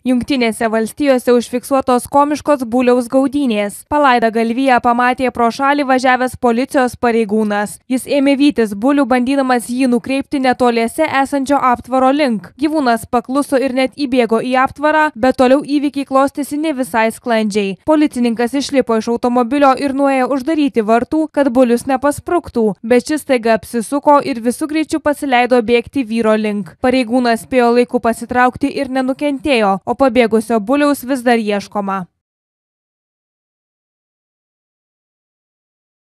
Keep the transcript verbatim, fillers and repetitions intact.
Jungtinėse valstijose užfiksuotos komiškos buliaus gaudynės. Palaidą galviją pamatė pro šalį važiavęs policijos pareigūnas. Jis ėmė vytis bulių, bandydamas jį nukreipti netoliese esančio aptvaro link. Gyvūnas pakluso ir net įbėgo į aptvarą, bet toliau įvykiai klostėsi ne visai sklandžiai. Policininkas išlipo iš automobilio ir nuėjo uždaryti vartų, kad bulius nepaspruktų, bet šis staiga apsisuko ir visų greičių pasileido bėgti vyro link. Pareigūnas spėjo laiku pasitraukti ir nenukentėjo, o pabėgusio buliaus vis dar ieškoma.